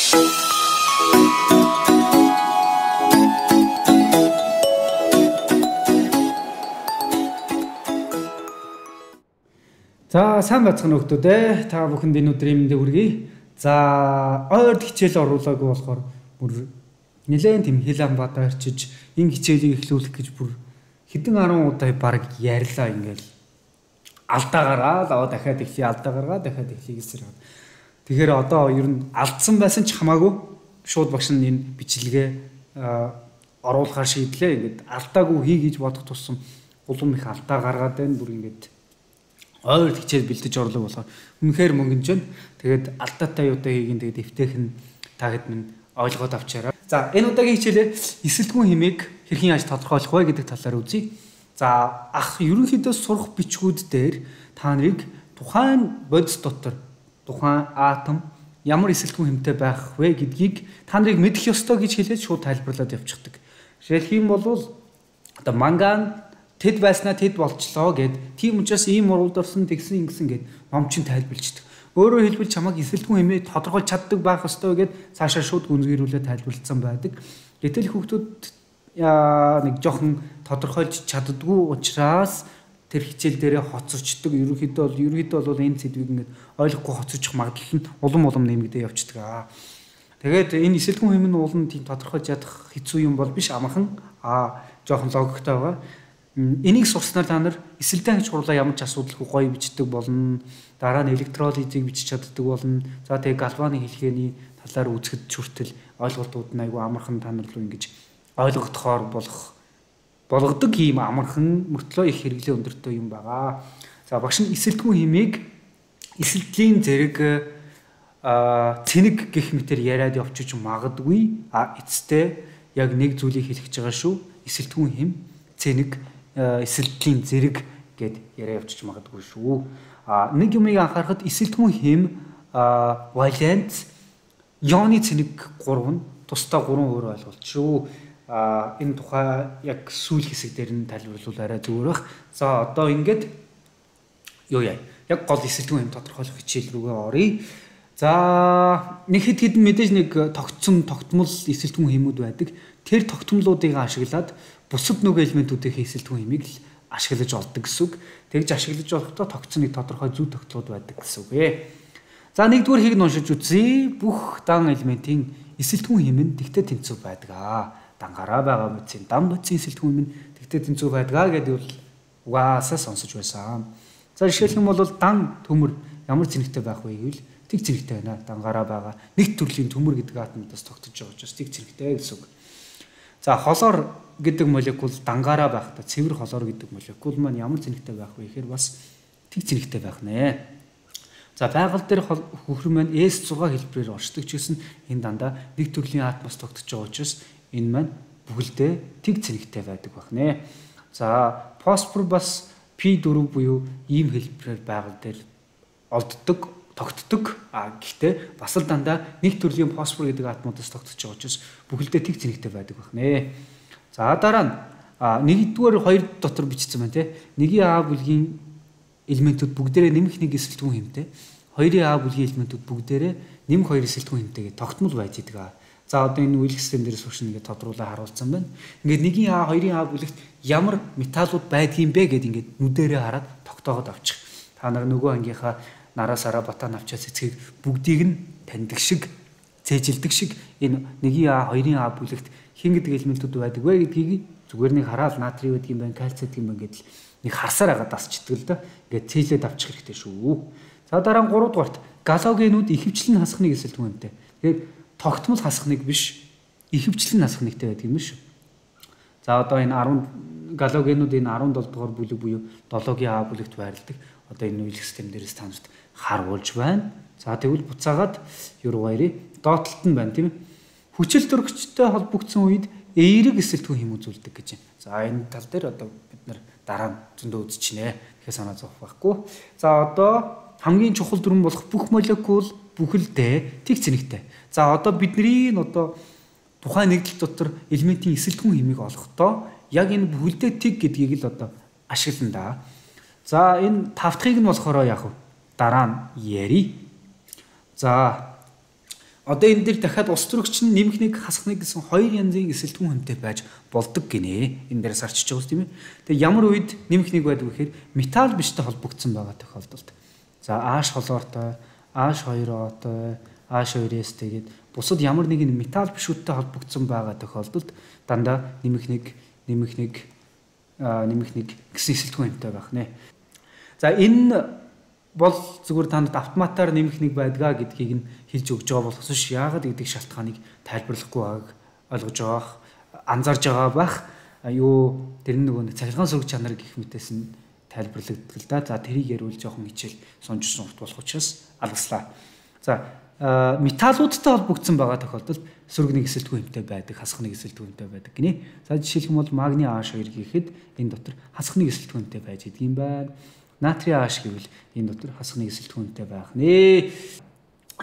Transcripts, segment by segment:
За сайн бацхан нөхдөө та бүхэнд энэ өдрийн мэндийг хүргэе. За ойрд хичээл оруулаагүй болохоор бүр нэлээд тийм хэл ам бадаа арчиж энэ хичээлийг эхлүүлэх гэж бүр хэдэн 10 удаа баг ярьлаа ингээл алдаа гаргаад аваа дахиад эхлэе алдаа гаргаад дахиад эхлэе гэсэн. Тэгэхээр одоо ер нь алдсан байсан ч хамаагүй шууд багш нь энэ бичлэгээ оруулахар шийдлээ. Ингээд алдаагүй хий гэж бодох тусам улам их алдаа гаргаад байна. Бүр ингээд ойр хичээл бэлдэж орлоо болохоор үнэхээр мөнгөж байна. Тэгээд алдаатай юутай хийгин тэгээд эвтэйхэн та хэд минь ойлгоод авчаарай. За энэ удаагийн хичээлээр эсэлтгүүн хэмээг хэрхэн яаж тодорхойлох вэ гэдэг талаар үзье. За ерөнхийдөө сурах бичгүүд дээр та нарыг тухайн бодис дотор тухайн атом ямар эсэлтгүүн хэмтэй байх вэ гэдгийг та нарыг мэдэх ёстой гэж хэлээд шууд тайлбарлаад явчихдаг. Жишээлх юм бол одоо манган тэд байснаа тэд болчлоо гэд тийм учраас ийм уралд орсон тэгсэн ингэсэн гэд ном чинь тайлбарлждаг. Өөрөөр хэлбэл чамайг эсэлтгүүн хэмээн тодорхойлж чаддаг байх ёстой гэд цаашаа шууд гүнзгийрүүлээ тайлбарлагдсан байдаг. Гэтэл хүүхдүүд нэг жоохон тодорхойлж чаддгүй учраас тэр хичээл дээрээ хоцорчдөг. Ерөнхийдөө бол энэ сэдвийг ингээд ойлгохгүй хоцорчих магадлал нь улам нэмэгдээ явчихдаг. Тэгээд энэ эсэлтгүүн хэмээн нь улам тийм тодорхойлж ядах хэцүү юм бол биш амархан жоохон логиктой байгаа. Энийг сурснаар та нар эсэлдэн аж хурлаа ямар ч асуудалгүй гоё бичдэг болно. Дараа нь электролизийг бичиж чаддаг болно. За тэгээ галваны хэлхээний талаар үзэхэд хүртэл ойлголтууд нь айгүй амархан та нар руу ингэж ойлгогдохоор болгодог ийм амархан мөртлөө их хэрэглээ өндөртэй юм байгаа. За багш нь эсэлтгүүн хэмээг эсэлтлийн зэрэг цэник гэх мэтэр яриад явчих магадгүй. Эцэстээ яг нэг зүйлийг хэлэх гэж байгаа шүү. Эсэлтгүүн хэм цэник эсэлтлийн зэрэг гэд яриа явчих магадгүй шүү. Нэг юмыг анхаарахад эсэлтгүүн хэм валент ионы цэник 3 нь тусдаа 3 өөр ойлголт шүү. Энэ тухай яг сүүл хэсэг дээр нь тайлбарлуул арай зүгээр бах. За одоо ингээд юу яа. Яг гол эсэлтгүүн хэм тодорхойлох хичээл рүүгээ оръё. За нэг хэдэн мэдээж нэг тогтмол эсэлтгүүн хэмүүд байдаг. Тэр тогтмолуудыг ашиглаад бусад нөгөө элементүүдийн эсэлтгүүн хэмийг л ашиглаж олдог гэсэн үг. Тэгж ашиглаж болохдоо тогтсон нэг тодорхой зүй тогтлууд байдаг гэсэн үг ээ. За нэгдүгээр хийг уншиж үзье. Бүх дан элементийн эсэлтгүүн хэм нь тэгтээ тэнцүү байдаг. Дангаараа байгаа бодисын дан бодисын эсэлтгүүн хэм нь тэгтээ тэнцүү байдаг гэдэг бол угаасаа сонсож байсан. За жишээлх юм бол дан төмөр ямар цэнэгтэй байх вэ гэвэл тэг цэнэгтэй байна. Дангаараа байгаа нэг төрлийн төмөр гэдэг атомдоос тогтож байгаа учраас тэг цэнэгтэй гэсэн үг. За холоор гэдэг молекул дангаараа байхдаа цэвэр холоор гэдэг молекул маань ямар цэнэгтэй байх вэ гэхээр бас тэг цэнэгтэй байх нэ. За байгаль дээр хөхөр маань S6 хэлбэрээр оршдог ч гэсэн энэ дандаа нэг төрлийн атомоос тогтож байгаа учраас энэ маань бүгэлдээ тэг цэнэгтэй байдаг байх нэ. За фосфор бас P4 буюу ийм хэлбэрээр байгаль дээр олддог тогтдог. Гэхдээ бас л дандаа нэг төрлийн фосфор гэдэг атомоос тогтож байгаа учраас бүгэлдээ тэг цэнэгтэй байдаг байх нэ. За дараа нь нэгдүгээр хоёр дотор бичсэн байна те. Нэгийн А бүлгийн элементүүд бүгдээрээ нэмэх нэг эсэлтгүүн хэмтэй. Хоёрын А бүлгийн элементүүд бүгдээрээ нэмэх хоёр эсэлтгүүн хэмтэйгээ тогтмол байж идэг. За одоо энэ үйл систем дээрээс хүрш нэгээ тодруулаад харуулсан байна. Ингээд нэгийн А хоёрын А бүлэгт ямар металлууд байдгийм бэ гэд ингээд нүдэрээ хараад тогтоогоод авчих. Та нар нөгөө ангийнхаа нараасаараа батаа навчаас эцгийг бүгдийг нь таньдаг шиг цээжилдэг шиг энэ нэгийн А хоёрын А бүлэгт хин гэдэг элементүүд байдаг вэ гэдгийг зүгээр нэг хараад натрий байдаг юм байна, кальций гэдэг юм байна гэдэл нэг харсаар агаад дасчдаг л да. Ингээд цээлээд авчих хэрэгтэй шүү. За дараа нь 3 дугаарт галогенууд ихэвчлэн хасахныг эсэлтгүүн хэмтэй. Тэгэхээр тогтмол хасахныг биш ихэвчлэн хасахнэгтэй байдаг юм шүү. За одоо энэ 10 галогенууд энэ 17 дугаар бүлэг буюу 7-гийн А бүлэгт байрладаг. Одоо энэ үйл систем дээрээс та нарт харуулж байна. За тэгвэл буцаагаад юу баярыг доотлолт нь байна тийм ээ. Хүчил төрөгчтэй холбогдсон үед эерэг эсэлтгүүн хэм үзүүлдэг гэж байна. За энэ тал дээр одоо бид нар дараа нь зөндөө үзчихнэ. Тэгэхээр санаа зовох байхгүй. За одоо хамгийн чухал дүрэн болох бүх молекул бүхэлдээ тэг цэнэгтэй. За одоо бидний одоо тухайн нэгдэл дотор элементийн эсэлтгүүн хэмийг олохдоо яг энэ бүхэлдээ тэг гэдгийг л одоо ашиглана да. За энэ тавтахыг нь болохоор яг дараа нь ярий. За одоо энэ дээр дахиад ус төрөгч нь нэмэх нэг хасах нэг гэсэн хоёр янзын эсэлтгүүн хүнтэй байж болдог гинэ. Энэ дээрээс арчиж байгаа тийм ээ. Тэгээ ямар үед нэмэх нэг байдаг вэ гэхээр металл биштэй холбогдсон байгаа тохиолдолд. За H холоортой, H2O-той, H2S тэгээд бусад ямар нэгэн металл бишүүдтэй холбогдсон байгаа тохиолдолд дандаа нэмэх нэг гэсэн эсэлтгүүн хүнтэй байх нэ. За энэ бол зүгээр танд автоматар нэмэх нэг байдгаа гэдгийг нь хэлж өгж байгаа болохоос ш яагаад гэдэг шалтгааныг тайлбарлахгүй байгааг ойлгож байгаа анзаарж байгаа байх. Юу тэр нөгөө цахилгаан сөрөг чанар гэх мэтээс нь тайлбарлагддаг л да. За тэрийг ярил жоохон хичээл сонжсон ухт болох учраас алгаслаа. За металлуудтай холбогдсон байгаа тохиолдолд сөрөг нэг эсэлтгүүн хэмтэй байдаг, хасах нэг эсэлтгүүн хэмтэй байдаг гинэ. За жишээлх юм бол магний H2 гэхэд энэ дотор хасах нэг эсэлтгүүн хэмтэй байж идэг юм байна. Натрийн H гэвэл энэ дотор хасах нэг эсэлтгүүнтэй байх нэ.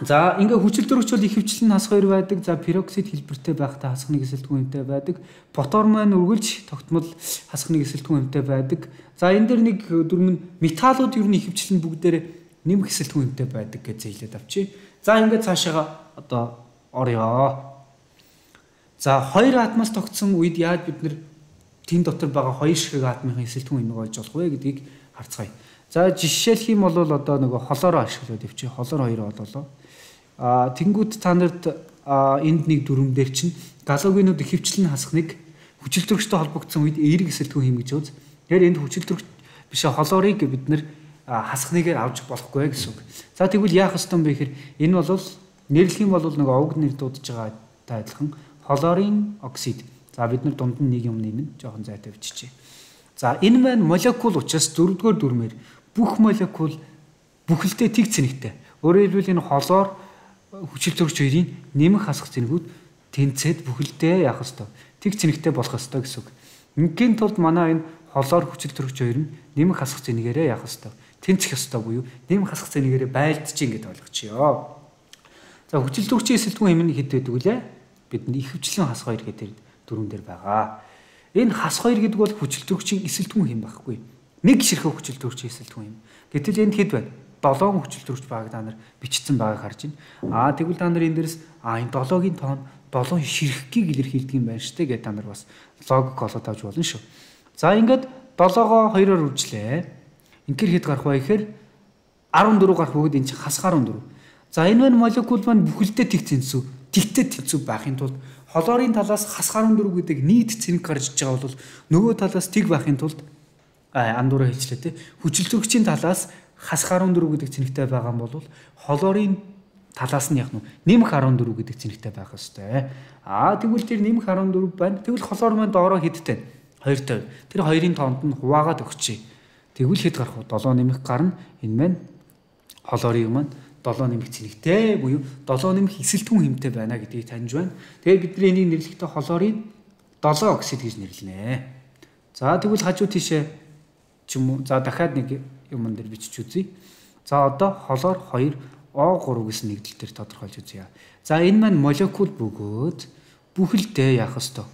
За ингээ хүчил төрөгч бол ихэвчлэн хас 2 байдаг. За пероксид хэлбэртэй байхдаа хасах нэг эсэлтгүүнтэй байдаг. Ботор маань үргэлж тогтмол хасах нэг эсэлтгүүнтэй байдаг. За энэ дэр нэг дөрмөн металлууд ер нь ихэвчлэн бүгдээр нэмэх эсэлтгүүнтэй байдаг гэж зэйлээд авчи. За ингээ цаашаага одоо орё. За хоёр атомоос тогтсон үед яаж бид нэр тэн дотор байгаа хоёр ширхэг атомын эсэлтгүүн энийг олж болох вэ гэдгийг харцгаая. За жишээлх юм бол одоо нөгөө холоороо ашиглаад өвчи. Холоор 2 бололоо. Тэнгүүд та нарт энд нэг дүрм дээр чинь галогенууд ихэвчлэн хасах нэг хүчил төрөгчтэй холбогдсон үед эерэг эсэлтгүүн хийм гэж үз. Тэгэхээр энд хүчил төрөгч биш холоорыг бид нэр хасах нэгээр авч болохгүй гэсэн үг. За тэгвэл яах ёстой юм бэ гэхээр энэ бол нэрлэх юм бол нөгөө овг нэр дуудаж байгаатай адилхан холорын оксид. За бид нар дунд нь нэг юм нэмэн жоохон зайтай биччихье. За энэ маань молекул учраас 4-р дүрмээр бүх молекул бүхэлдээ тэг цэнэгтэй. Өөрөөр хэлбэл энэ холоор хүчил төрөгч хоёрын нэмэх хасах цэнэгүүд тэнцээд бүхэлдээ яах ёстой. Тэг цэнэгтэй болох ёстой гэсэн үг. Ингийн тулд манай энэ холоор хүчил төрөгч хоёр нь нэмэх хасах цэнэгээрээ яах ёстой. Тэнцэх ёстой буюу нэмэх хасах цэнэгээрээ байлдчих ингэж ойлгочихё. За хүчил төрөгчийн эсэлтгүүн хэмнэ хэд байдаг вүлээ? Бидний ихэвчлэн хас 2 гэдэг дүрмэн дээр байгаа. Энэ хас 2 гэдэг бол хүчил төрөгчийн эсэлтгүүн хэм байхгүй. Нэг ширхэг хүчил төрөгчийн эсэлтгүүн хэм. Гэтэл энд хэд байна? 7 хүчил төрөгч байгааг та нар бичсэн байгааг харж байна. Тэгвэл та нар энэ дээрс энэ 7-гийн тоон 7 ширхгийг илэрхийлдэг юм байна штэ гэдэг та нар бас логик олоод авч болно шүү. За ингээд 7-гоо 2-оор үржлээ. Ингээр хэд гарах вэ гэхээр 14 гарах бөгөөд энэ чинь хас 14. За энэ маань молекул маань бүхэлдээ тэг тэнцүү, тэгтээ тэнцүү байхын тулд холоорын талаас хас 14 гэдэг нийт цэнэг гарч иж байгаа бол нөгөө талаас тэг байхын тулд андуураа хэлчлээ те. Хүчил төрөгчийн талаас хас 14 гэдэг цэнэгтэй байгаа юм бол холоорын талаас нь яг нэмэх 14 гэдэг цэнэгтэй байх ёстой. Тэгвэл тэр нэмэх 14 байна. Тэгвэл холоор маань доороо хэдтэй 2-той. Тэр 2-ын тоонд нь хуваагаад өгчээ. Тэгвэл хэд гарах вэ? 7 нэмэх гарна. Энэ маань холоорын маань 7 нэмэх цэнэгтэй буюу 7 нэмэх эсэлтгүүн хэмтэй байна гэдгийг таньж байна. Тэгээд бид нар энийг нэрлэхдээ холоорын 7 оксид гэж нэрлэнэ. За тэгвэл хажуу тийшээ ч юм уу за дахиад нэг юм дээр бичиж үзье. За одоо холоор 2 O3 гэсэн нэгдэл дээр тодорхойлж үзье. За энэ маань молекул бөгөөд бүхэлдээ яах ёстой.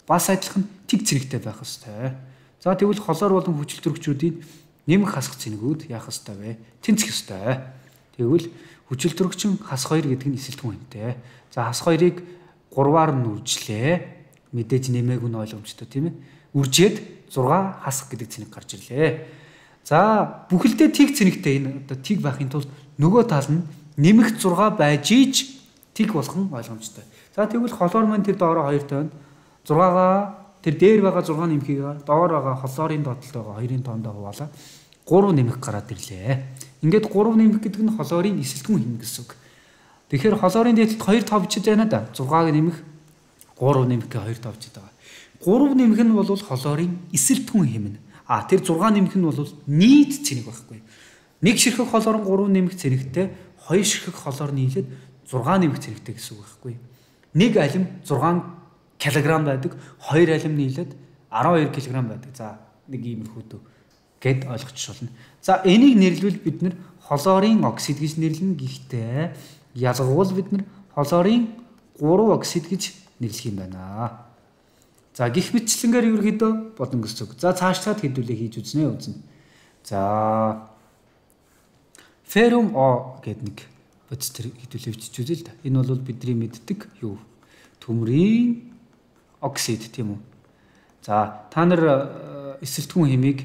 Бас адилхан тэг цэнэгтэй байх ёстой. За тэгвэл холоор болон хүчил төрөгчүүдийн нэмэх хасах цэнэгүүд яах ёстой вэ? Тэнцэх ёстой. Тэгвэл хүчил төрөгчин хас 2 гэдэг нь эсэлтгүүн хэмтэй. За хас 2-ыг 3-аар нь үржлээ. Мэдээж нэмээг нь ойлгомжтой тийм ээ. Үржээд 6 хасах гэдэг цэнэг гарч ирлээ. За бүхэлдээ тэг цэнэгтэй энэ одоо тэг байхын тулд нөгөө тал нь нэмэх 6 байж иж тэг болох нь ойлгомжтой. За тэгвэл холоор маань тэр доороо 2 тойно 6-гаа тэр дээр байгаа 6 нэмхийг доор байгаа холоорын доотлолд байгаа 2-ын тоондоо хуваалаа 3 нэмэх гараад ирлээ. Ингээд 3 нэмэх гэдэг нь холоорын эсэлтгүүн хэм гэсэн үг. Тэгэхээр холоорын дээдлэлд 2 товчж байна да. 6-г нэмэх 3 нэмэх гэ 2 товчж байгаа. 3 нэмэх нь бол холоорын эсэлтгүүн хэм нь. Тэр 6 нэмэх нь бол нийт цэнэг байхгүй. Нэг ширхэг холоор 3 нэмэх цэнэгтэй 2 ширхэг холоор нийлээд 6 нэмэх цэнэгтэй гэсэн үг байхгүй. Нэг алим 6 кг байдаг, 2 алим нийлээд 12 кг байдаг. За нэг иймэрхүү дөө гэд ойлгочих болно. За энийг нэрлэвэл бид нэр холоорын оксид гэж нэрлэнэ. Гэхдээ ялгуул бид нэр холоорын 3 оксид гэж нэрлэх юм байна. За гих мэтчлэнгээр ерөөхдөө бодно гэсэн үг. За цаашлаад хэдүүлээ хийж үзнэ. За феррум О гэдэг нэг бодис тэр хэдүүлээ бичиж үзье л да. Энэ бол бидний мэддэг юу? Төмрийн оксид тийм үү? За та нар эсэлтгүүн хэмийг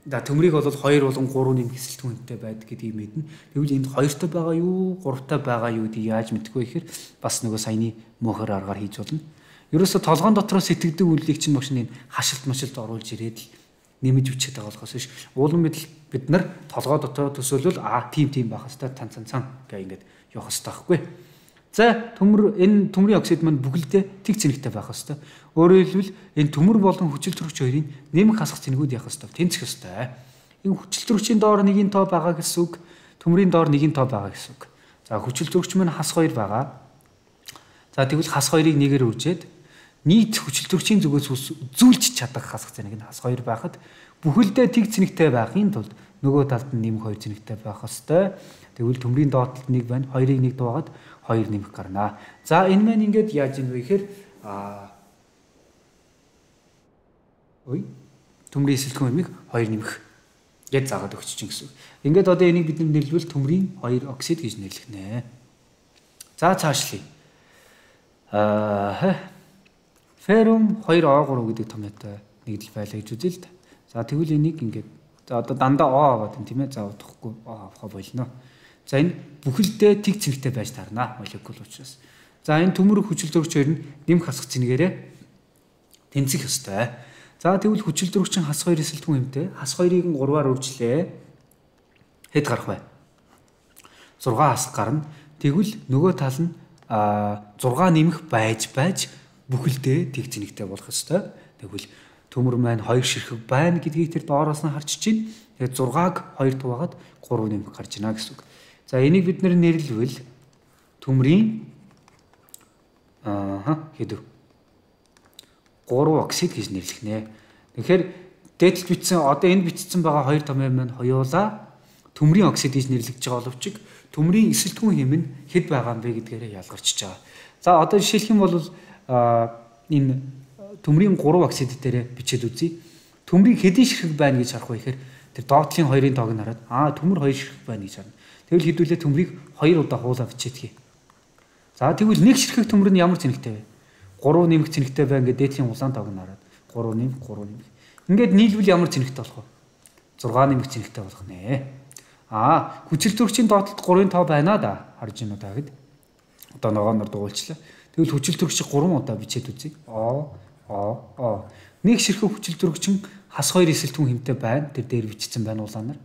төмрийг бол 2 болон 3 нэмэх эсэлтгүүн хэмтэй байдаг гэдгийг мэднэ. Тэгвэл энд 2-той байгаа юу, 3-той байгаа юу гэдгийг яаж мэдэхгүй гэхээр бас нөгөө саяны мөнхөр аргаар хийж болно. Ерөөсө толгоон дотроос сэтгэдэг үйлийг чинь багш энэ хашилт машилт оруулж ирээд нэмэж бичээд байгаа болохоос биш. Уулан мэдл бид нар толгой дотоо төсөөлөл тийм байх хэвээр цан гэх ингээд явах хэвээр байхгүй. За энэ төмрийн оксид маань бүгэлдээ тэг цэнэгтэй байх хэвээр. Өөрөөр хэлбэл энэ төмөр болон хүчил төрөгч хоёрын нэмэх хасах цэнэгүүд явах хэвээр тэнцэх хэвээр. Энэ хүчил төрөгчийн доор 1-ийн тоо байгаа гэсэн үг, төмрийн доор 1-ийн тоо байгаа гэсэн үг. За хүчил төрөгч маань хас 2 байгаа. За тэгвэл хас 2-ыг 1-ээр үржээд нийт хүчил төрөгчийн зүгээс үзүүлж чадах хасах цэнэг нь хас 2 байхад бүхэлдээ тэг цэнэгтэй байхын тулд нөгөө талд нь нэмэх 2 цэнэгтэй байх хэвээр. Тэгвэл төмрийн доотлолт 1 байна. 2-ыг 1 дуугаад 2 нэмэх гарнаа. За энэ маань ингээд яаж юм бэ гэхээр төмрийн эсэлтгүүн хэмийг 2 нэмэх гэж заагаад өгч чинь гэсэн. Ингээд одоо энийг бид нэрлэвэл төмрийн 2 оксид гэж нэрлэх нэ. За цаашлие. Феррум 2O3 гэдэг томьёотой нэгдэл байлаа гэж үзье л да. За тэгвэл энийг ингээд за одоо дандаа O аваад байна тийм ээ. За удахгүй O авах болно. За энэ бүхэлдээ тэг цэнэгтэй байж таарна молекул учраас. За энэ төмөр хүчил төрөгч хоёр нь нэмэх хасах цэнэгээрээ тэнцэх ёстой. За тэгвэл хүчил төрөгчин хас 2 эсэлтгүүн хэмтэй хас 2-ыг 3-аар үржлээ. Хэд гарах вэ? 6 хасах гарна. Тэгвэл нөгөө тал нь 6 нэмэх байж бүхэлдээ тэг цэнэгтэй болох ёстой. Тэгвэл төмөр маань 2 ширхэг байна гэдгийг тэр доороос нь харж чинь. Тэгээд 6-аг 2 дуугаад 3 нэмэх гарч ийнэ гэсэн үг. За энийг бид нэрлэвэл төмрийн хэдв 3 оксид гэж нэрлэх нэ. Тэгэхээр дээдлж бичсэн одоо энд бичсэн байгаа 2 томьёо маань хоёулаа төмрийн оксид гэж нэрлэгдэж байгаа боловч төмрийн эсэлтгүүн хэм нь хэд байгаа юм бэ гэдгээрээ ялгарчиж байгаа. За одоо жишээлх юм бол энэ төмрийн 3 оксид дээр бичээд үзье. Төмрийн хэдийн ширхэг байна гэж харах вэ гэхээр тэр доотлын 2-ын тоог нь хараад төмөр 2 ширхэг байна гэж харна. Тэгвэл хэдүүлээ төмрийг 2 удаа хуулаа бичээдгий. За тэгвэл 1 ширхэг төмөр нь ямар цэнэгтэй вэ? 3 нэмэх цэнэгтэй байна гэдэг дээдлийн улаан тоог нь хараад 3 нэмэх 3 нэмэх. Ингээд нийлбэл ямар цэнэгтэй болох вэ? 6 нэмэх цэнэгтэй болох нэ. Хүчил төрөгчийн доотлолт 3-ын тоо байна да. Харж байна уу та гэд. Одоо ногооноор дугуйлчлаа. Тэгвэл хүчил төрөгчийг 3 удаа бичээд үзье. Нэг ширхэг хүчил төрөгчин хас 2 эсэлтгүүн хэмтэй байна. Тэр дээр бичсэн байна улаанаар.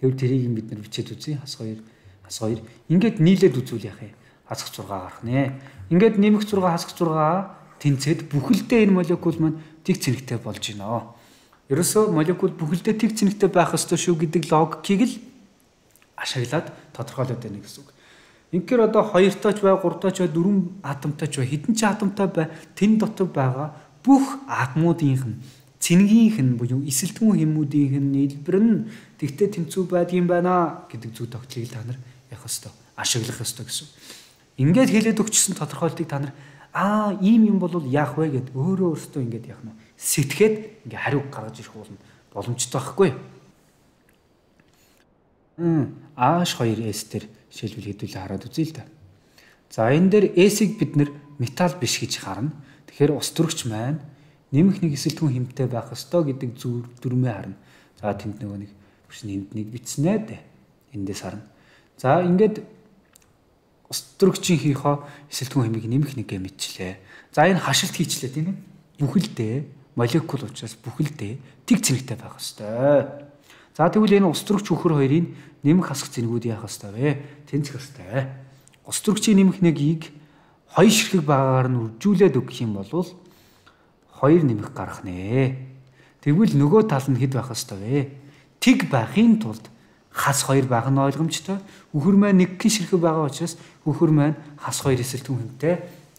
Тэгвэл тэрийг бид нар бичээд үзье. Хас 2. Ингээд нийлээд үзүүл яах вэ? Хасах 6 гарах нэ. Ингээд нэмэх 6 хасах 6 тэнцээд бүхэлдээ энэ молекул маань тэг цэнэгтэй болж байна. Ерөөсөө молекул бүхэлдээ тэг цэнэгтэй байх ёстой шүү гэдэг логикийг л ашиглаад тодорхойлоод байна гэсэн үг. Инхээр одоо 2-той ч бай, 3-той ч бай, 4 атомтой ч бай, хэдэн ч атомтой бай, тэн дотор байгаа бүх атомуудынх нь цэнэгийнх нь буюу эсэлтгүүн хэмүүдийнх нь нийлбэр нь тэгтээ тэнцүү байдгийн байна гэдэг зүй тогтолцоог та нар явах ёстой, ашиглах ёстой гэсэн. Ингээд хэлээд өгчсөн тодорхойлтыг та нар ийм юм бол яах вэ гэд өөрөөсөө ингээд яах нь сэтгэхэд ингээ хариу гаргаж ирэх боломжтой байхгүй. H2S дээр жишээлбэл хэдүүлээ хараад үзье л да. За энэ дээр S-ийг бид нэр металл биш гэж харна. Тэгэхээр ус төрөгч маань нэмэх нэг эсэлтгүүн хэмтэй байх ёстой гэдэг дүрмээ харна. За тэнд нөгөө нэг энд нэг бичснэ дээ. Эндээс харна. За ингээд ус төрөгчийн хийхөө эсэлтгүүн хэмийг нэмэх нэгэ мэдчлээ. За энэ хашилт хийчлээ тийм ээ. Бүхэлдээ молекул учраас бүхэлдээ тэг цэнэгтэй байх ёстой. За тэгвэл энэ ус төрөгч хөхөр хоёрын нэмэх хасах цэнэгүүд яах ёстой вэ? Тэнцэх ёстой. Ус төрөгчийн нэмэх нэгийг 2 ширхэг багаар нь үржүүлээд өгөх юм бол 2 нэмэх гарах нэ. Тэгвэл нөгөө тал нь хэд байх ёстой вэ? Тэг байхын тулд хас 2 байх нь ойлгомжтой. Хөхөр маань 1 ширхэг байгаа учраас хөхөр маань хас 2 эсэлтгүүн хэмтэй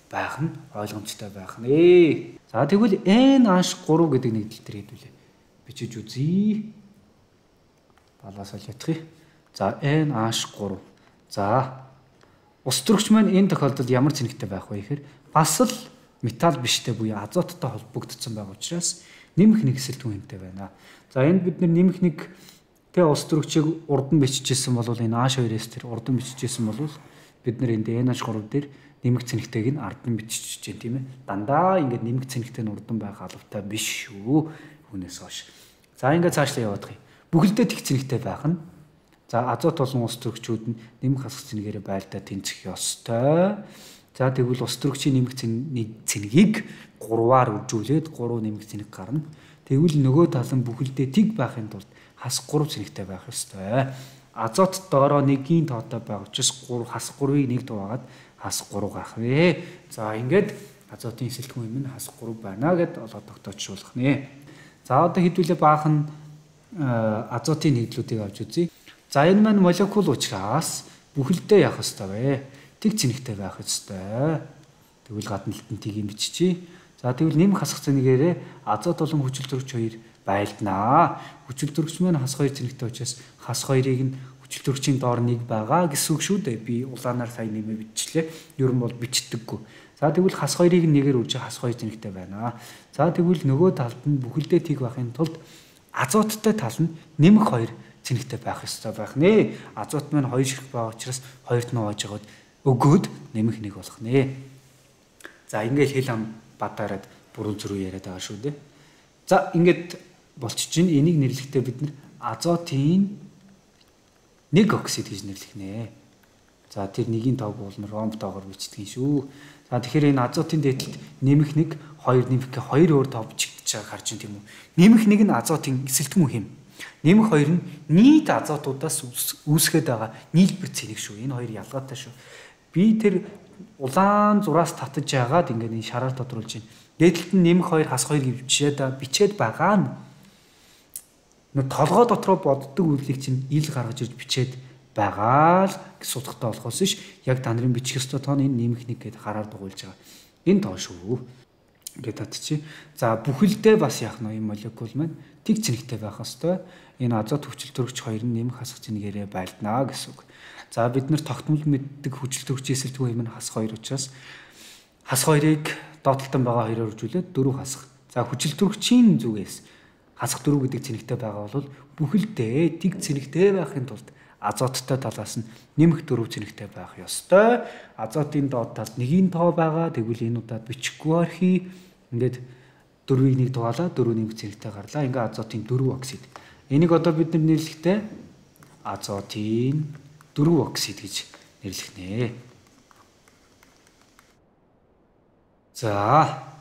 байх нь ойлгомжтой байх нэ. За тэгвэл NH3 гэдэг нэгдэл төр хэдүүлээ. Бичиж үзье. Балаас л ятгах. За NH3. За ус төрөгч маань энэ тохиолдолд ямар цэнэгтэй байх вэ гэхээр бас л металл биштэй буюу азоттой холбогдсон байгаа учраас нэмэх нэг эсэлтгүүн хэмтэй байна. За энд бид нэмэх нэг Тэгээ ус төрөгчийг урд нь бичижсэн бол энэ H2S тэр урд нь бичижсэн бол бид нар энд NH3 дээр нэмэх цэнэгтэйг нь ард нь бичиж чинь тийм ээ. Дандаа ингээд нэмэх цэнэгтэй нь урд нь байх албатай биш шүү. Хүнээс хойш. За ингээд цаашлаа яваад гэх юм. Бүхэлдээ тэг цэнэгтэй байх нь. За азот болон ус төрөгчүүд нь нэмэх хасах цэнэгээр байлдаа тэнцэх ёстой. За тэгвэл ус төрөгчийн нэмэх цэнэгийг 3-аар үржүүлээд 3 нэмэх цэнэг гарна. Тэгвэл нөгөө тал нь бүхэлдээ тэг байхын тулд хас 3 цэнэгтэй байх ёстой. Азот доороо 1-ийн тоотой байх учраас хас 3-ыг 1 дуугаад хас 3 гарах вэ. За ингээд азотын эсэлтгүүн юм нь хас 3 байна гэд олоод тогтоочруулах нэ. За одоо хэдүүлээ баахан азотын нэгдлүүдийг авч үзье. За энэ маань молекул учраас бүхэлдээ явах ёстой вэ. Тэг цэнэгтэй байх ёстой. Тэгвэл гадна алтан тийг юм биччихье. За тэгвэл нэмэх хасах цэнэгээрээ азот болон хүчил төрөгч 2 байлднаа. Хүчил төрөгч маань хас 2 цэнэгтэй учраас хас 2-ыг нь хүчил төрөгчийн доор 1 байгаа гэсэн үг шүү дээ. Би улаанаар сайн нэмээ биччихлээ. Ер нь бол бичдэггүй. За тэгвэл хас 2-ыг нь 1-ээр үржих хас 2 цэнэгтэй байна. За тэгвэл нөгөө талд нь бүхэлдээ тэг байхын тулд азоттой тал нь нэмэх 2 цэнэгтэй байх ёстой байх нэ. Азот маань 2 ширхэг байгаа учраас 2-т нь оожгаад өгөөд нэмэх 1 болох нэ. За ингээд хэл ам бадаараад бүрэн зүрх яриад байгаа шүү дээ. За ингээд болчих чинь энийг нэрлэхдээ бид нар азотын 1 оксид гэж нэрлэх нэ. За тэр 1-ийн тоог бол ромб тоогоор бичдэг шүү. За тэгэхээр энэ азотын дээдлэлд нэмэх 1 2 нэмэх 2 өөр тоо бичигдэж байгааг харж байна тийм үү. Нэмэх 1 нь азотын эсэлтгүүн хэм. Нэмэх 2 нь нийт азотуудаас үүсгээд байгаа нийлбэр цэнэг шүү. Энэ хоёр ялгаатай шүү. Би тэр улаан зураас татаж яагаад ингээд энэ шараар тодруулж байна. Дээдлэлт нь нэмэх 2 хас 2 гэж бичээд байгаа нь толгой дотроо боддог үйлийг чинь ил гаргаж ирж бичээд байгаа л судахтай болохоос ш яг та нарын бичих ёстой тоо энэ нэмэх 1 гэдээ хараар дугуйлж байгаа. Энэ тоо шүү. Ингээд татчих. За бүхэлдээ бас яах нь юм молекул маань тэг цэнэгтэй байх ёстой. Энэ азот хүчил төрөгч 2 нь нэмэх хасах цэнэгээрээ байлднаа гэсэн үг. За бид нар тогтмол мэддэг хүчил төрөгчийн эсэлтгүүн юм нь хас 2 учраас хас 2-ыг доотлолтон байгаа 2-оор үржүүлээд 4 хасах. За хүчил төрөгчийн зүгээс хасах 4 гэдэг цэнэгтэй байгаа бол бүхэлдээ тэг цэнэгтэй байхын тулд азоттой талаас нь нэмэх 4 цэнэгтэй байх ёстой. Азотын доод талд 1-ийн тоо байгаа. Тэгвэл энэ удаад бичихгүй архи. Ингээд 4-ийг 1 дугаалаа 4 нэмэх цэнэгтэй гарлаа. Ингээд азотын 4 оксид. Энийг одоо бид нар нэрлэхдээ азотын 4 оксид гэж нэрлэх нэ. За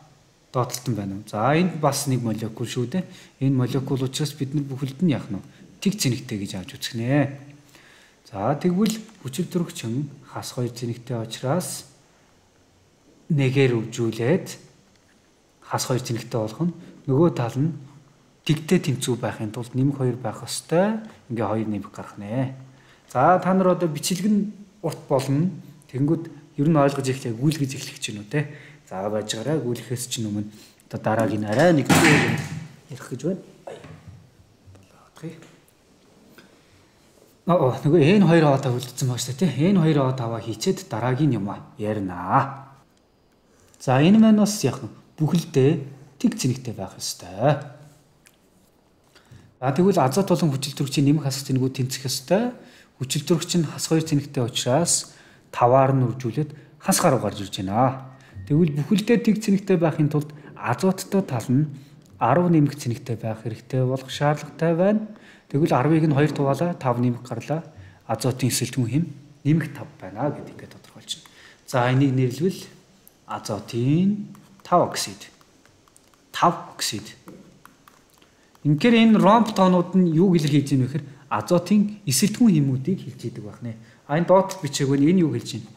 доотлолтон байна уу? За энд бас нэг молекул шүү дээ. Энэ молекул учраас бид нар бүхэлд нь яах нь тэг цэнэгтэй гэж авч үзэх нэ. За тэгвэл хүчил төрөгчин хас 2 цэнэгтэй учраас 1-ээр үржүүлээд хас 2 цэнэгтэй болох нь нөгөө тал нь тэгтэй тэнцүү байхын тулд нэмэх 2 байх ёстой. Ингээ 2 нэмэх гарах нэ. За та нар одоо бичлэгэн урт болно. Тэнгүүд ер нь ойлгож эхлэе, гүйлгэж эхлэх гэж байна уу те. За байж гараа гүйлгэхээс чинь өмнө одоо дараагийн арай нэг ярих гэж байна. Болоодгий. Нөгөө энэ 2 аваа үлдсэн байгаа шүү дээ те. Энэ 2 аваа хийчээд дараагийн юм ярина. За энэ маань бас яг бүхэлдээ тэг цэнэгтэй байх ёстой. За тэгвэл азот болон хүчил төрөгчийн нэмэх хасах цэнэгүүд тэнцэх ёстой. Хүчил төрөгч нь хас 2 цэнэгтэй учраас 5-аар нь үржүүлээд хас гаруй гарч ирж байна. Тэгвэл бүхэлдээ тэг цэнэгтэй байхын тулд азоттой тал нь 10 нэмэх цэнэгтэй байх хэрэгтэй болох шаардлагатай байна. Тэгвэл 10-ыг нь 2 тугаалаа 5 нэмэх гарлаа. Азотын эсэлтгүүн хэм нэмэх 5 байна гэдэг ингээд тодорхойлж байна. За энийг нэрлэвэл азотын 5 оксид. 5 оксид. Инхээр энэ ромб тоонууд нь юу илэрхийлж байна вэ гэхээр азотын эсэлтгүүн хэмүүдийг хэлж идэг байх нэ. Энэ доотлол бичээг нь энэ юу хэлж байна?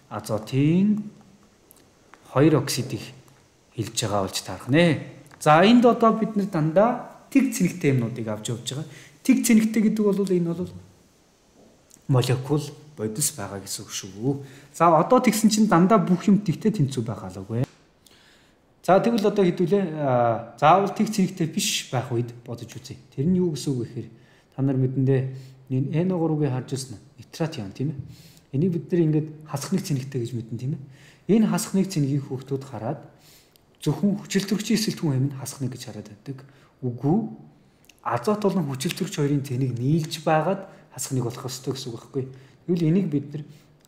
Азотын 2 оксидыг хэлж байгаа болж таарах нэ. За энд одоо бид нар дандаа тэг цэнэгтэй юмнуудыг авч явж байгаа. Тэг цэнэгтэй гэдэг бол энэ бол молекул бодис байгаа гэсэн үг шүү. За одоо тэгсэн чинь дандаа бүх юм тэгтэй тэнцүү байх алгүй. За тэгвэл одоо хэдүүлээ заавал тэг цэнэгтэй биш байх үед бодож үзье. Тэр нь юу гэсэн үг вэ гэхээр та нар мэдэндээ NO3-ыг харж ирсэн нитрат юм тийм ээ. Энийг бид нар ингээд хасах нэг цэнэгтэй гэж мэдэн тийм ээ. Энэ хасах нэг цэнэгийг хүүхдүүд хараад зөвхөн хүчил төрөгчийн эсэлтгүүн хэм нь хасах нэг гэж хараад байдаг. Үгүй азот болон хүчилтөрөгч хоёрын цэнийг нийлж байгаад хасхныг болох ёстой гэсэн үг байхгүй. Тэгвэл энийг бид нар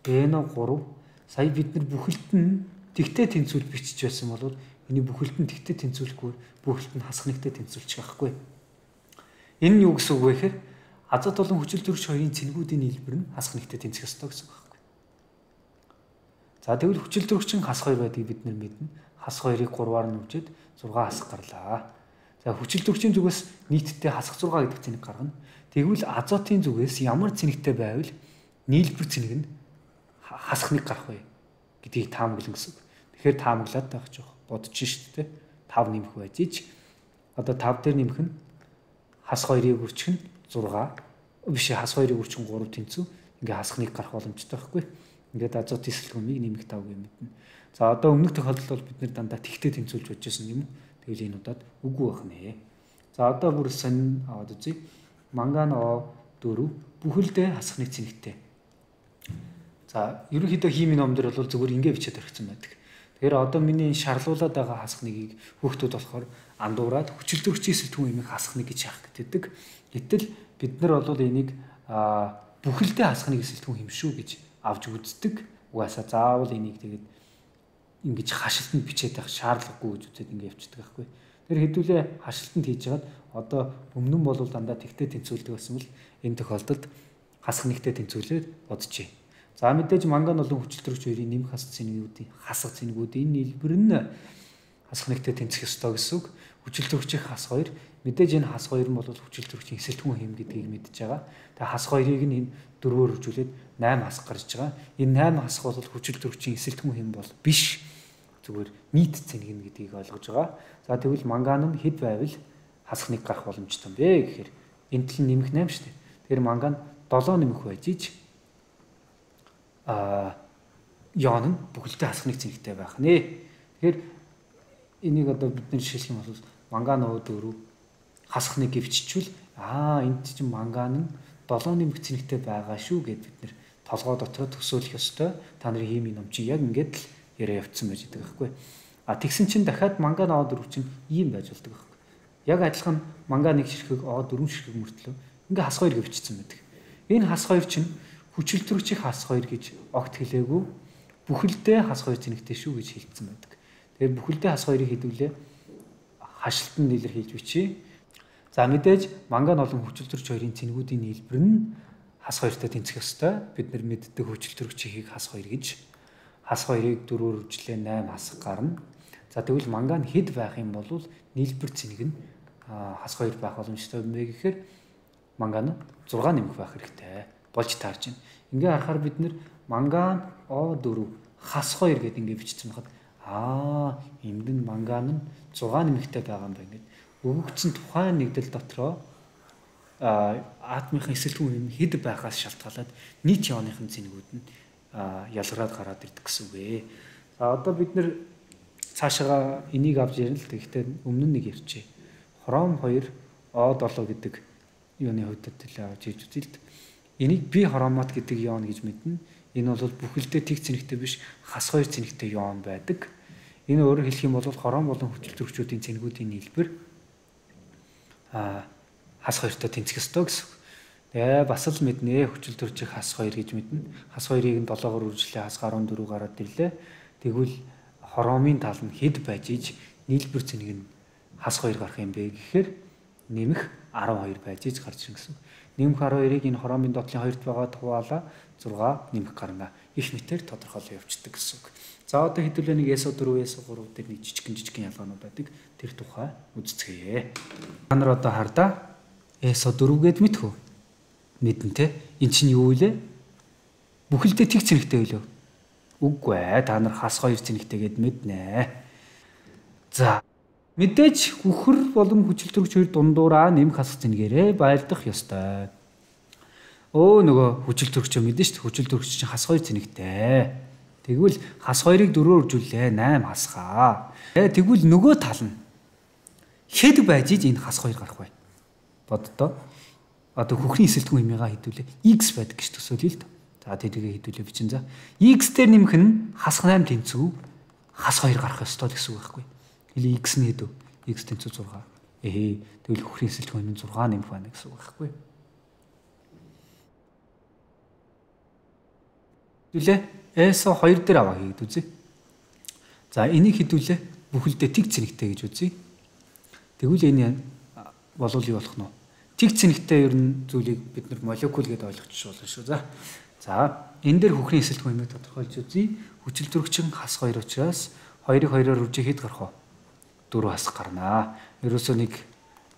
NO3 сая бид нар бүхэлд нь тэгтээ тэнцвүүл бичиж байсан бол энэ бүхэлд нь тэгтээ тэнцвүүлэхгүй бүхэлд нь хасхнигтэй тэнцвүүлчих байхгүй. Энэ нь юу гэсэн үг вэ гэхээр азот болон хүчилтөрөгч хоёрын цэнгүүдийн нийлбэр нь хасхнигтэй тэнцэх ёстой гэсэн үг байхгүй. За тэгвэл хүчилтөрөгчин хас 2 байдгийг бид нар мэднэ. Хас 2-ыг 3-аар нь үжээд 6 хасах гарлаа. За хүчилтөрөгчийн зүгээс нийтдээ хасах 6 гэдэг цэнийг гаргана. Тэгвэл азотын зүгээс ямар цэнэгтэй байвал нийлбэр цэнэг нь хасхныг гарах вэ гэдгийг таамаглан гэсэн үг. Тэгэхээр таамаглаад байх жоох бодож шүү дээ. 5 нэмэх байж ич. Одоо 5 дээр нэмэх нь хас 2-ыг үржих нь 6 биш хас 2-ыг үржих нь 3 тэнцүү. Ингээ хасхныг гарах боломжтой байхгүй. Ингээд азотын сэлгүүмийг нэмэх 5 гэж мэднэ. За одоо өмнөх тохиолдолд бол бид нэр дандаа тэгтээ тэнцүүлж бодож байсан юм уу? Тэгвэл энэ удаад үгүй байх нэ. За одоо бүр сонин аваад үзье. Манган O4 бүхэлдээ хасхныг цэнэгтэй. За ерөнхийдөө химийн номдэр бол зөвхөн ингэ бичээд орхисон байдаг. Тэгэхээр одоо миний шарлуулаад байгаа хасхныг хүүхдүүд болохоор андуураад хүчилтөрөгчийн сэтгүүн имийг хасхныг гэж яах гэдэг. Гэтэл бид нар бол энийг бүхэлдээ хасхныг сэтгүүн юм шүү гэж авч үздэг. Угаасаа заавал энийг тэгээд ингэж хашилтанд бичээд байх шаардлагагүй гэж үзээд ингэ явчихдаг байхгүй. Тэр хэдүүлээ хашилтанд хийж хагаад одоо өмнө нь бол дандаа тэгтээ тэнцвүүлдэг байсан бол энэ тохиолдолд хасхнигтэй тэнцвүүлээд боджээ. За мэдээж манган болон хүчилтөрөгч хоёрын нэмэх хасах цэнэгүүдийн нийлбэр нь хасхнигтэй тэнцэх ёстой гэсэн үг. Хүчилтөрөгчийн хас 2 мэдээж энэ хас 2 нь бол хүчилтөрөгчийн эсэлтгүүн хэм гэдгийг мэдж байгаа. Тэгээ хас 2-ыг нь энэ 4-өөр хөржүүлээд 8 хасах гарч байгаа. Энэ 8 хасах бол хүчилтөрөгчийн эсэлтгүүн хэм бол биш. Зүгээр нийт цэнийг нь гэдгийг ойлгож байгаа. За тэгвэл манган нь хэд байвал хасхныг гарах боломжтой юм бэ гэхээр энэ тал нь нэмэх 8 шүү дээ. Тэгэхээр манган 7 нэмэх байж ич яон нь бүхэлдээ хасхныг цэнэгтэй байх нэ. Тэгэхээр энийг одоо бид нэр жишээлх юм бол манган O4 хасхныг гэвччихвэл энд чинь манган нь 7 нэмэх цэнэгтэй байгаа шүү гэд бид нэр толгой дотор төсөөлөх ёстой. Та нарын химийн ном чи яг ингэж л яриа явцсан байж байгаа байхгүй. Тэгсэн чинь дахиад манган O4 чинь ийм байж болдог байхгүй. Яг адилхан манган 1 ширхэг O4 ширхэг мөртлөө ингээ хас 2 гэвчсэн байдаг. Энэ хас 2 чинь хүчилтөрөгчийн хас 2 гэж огт хэлээгүй бүхэлдээ хас 2 цэнэгтэй шүү гэж хэлсэн байдаг. Тэгэхээр бүхэлдээ хас 2-ыг хэдүүлээ хашилтанд илэрхийлж бичье. За мэдээж манган болон хүчилтөрөгч хоёрын цэнэгүүдийн нийлбэр нь хас 2-тай тэнцэх ёстой. Бид нар мэддэг хүчилтөрөгчийг хас 2 гэж хас 2-ыг 4-өөр үржлээ 8 хасах гарна. За тэгвэл манган хэд байх юм бол нийлбэр цэнэг нь хас 2 байх боломжтой юм бэ гэхээр манган 6 нэмэх байх хэрэгтэй. Болж таарч байна. Ингээ харахаар бид нэр манган O4 хас 2 гэдэг ингээ бичсэн байхад энд нь манган нь 6 нэмэхтэй байгаа юм байна гэдэг. Өгөгдсөн тухайн нэгдэл дотроо атомын эсэлтгүүн юм хэд байгаас шалтгаалаад нийт ионын цэнэгүүд нь ялгараад гараад ирдэг гэсэн үг ээ. За одоо бид нэр цаашаа энийг авч ярина л гэхдээ өмнө нь нэг ярьчээ. Хром 2 O7 гэдэг ионы хувьд төлөө авч ирж үзье л. Энийг би хромат гэдэг ион гэж мэднэ. Энэ бол бүхэлдээ тэг цэнэгтэй биш хас 2 цэнэгтэй ион байдаг. Энэ өөрөөр хэлэх юм бол хром болон хүчилтөрөгчүүдийн цэнэгүүдийн нийлбэр хас 2-тай тэнцэх ёстой гэсэн. Тэгээ бас л мэднэ хүчилтөрөгчийн хас 2 гэж мэднэ. Хас 2-ыг нь 7-оор үржлээ хас 14 гараад ирлээ. Тэгвэл хромын тал нь хэд байж иж нийлбэр цэнэг нь хас 2 гарах юм бэ гэхээр нэмэх 12 байж иж гарч ирнэ гэсэн. Нэмэх 12-ыг энэ хромын доотлын 2-т байгаа хуваалаа 6 нэмэх гарна. Их мэтээр тодорхойлоо явчихдаг гэсэн үг. За одоо хэдүүлээ нэг SO4, SO3 дээр нэг жижигхэн ялгаанууд байдаг. Тэр тухай үзцгээе. Та нар одоо хардаа SO4 гэд мэдхүү. Мэдэн те. Эн чинь юу вэ? Бүхэлдээ тэг цэнэгтэй байлоо. Үгүй ээ. Та нар хас 2 цэнэгтэй гэд мэднэ. За мэдээж хөхөр болон хүчилтөрөгч хоёр дундуураа нэмэх хасах цэнэгээрээ байлдах ёстой. Нөгөө хүчилтөрөгч мэдэн шүү дээ. Хүчилтөрөгч чинь хас 2 цэнэгтэй. Тэгвэл хас 2-ыг 4-өөр үржүүлээ 8 хасгаа. Тэгвэл нөгөө тал нь хэд байж иж энэ хас 2 гарах вэ? Боддоо. Одоо хөхрийн эсэлтгүүн хэмээгээ хэдүүлээ x байдаг гэж төсөөлье л дээ. За тэрийг хэдүүлээ бичин за. X дээр нэмэх нь хас 8 тэнцүү хас 2 гарах ёстой гэсэн үг байхгүй. Или x нь хэдв? X тэнцүү 6. Тэгвэл хөхрийн эсэлтгүүн хэмнэн 6 нэмэх байна гэсэн үг байхгүй. Хэдүүлээ S-о 2 дээр аваа хийгээд үзье. За энийг хэдүүлээ бүхэлдээ тэг цэнэгтэй гэж үзье. Тэгвэл энэ болов юу болох нь вэ? Тэг цэнэгтэй ер нь зүйлийг бид нар молекул гэдээ ойлгочих болно шүү. За энэ дээр хөхрийн эсэлтгүүн хэмнэн тодорхойлж үзье. Хүчил төрөгчин хас 2 учраас 2-ыг 2-оор үржих хэд гарах вэ? 4 хас гарнаа. Ерөөсөө нэг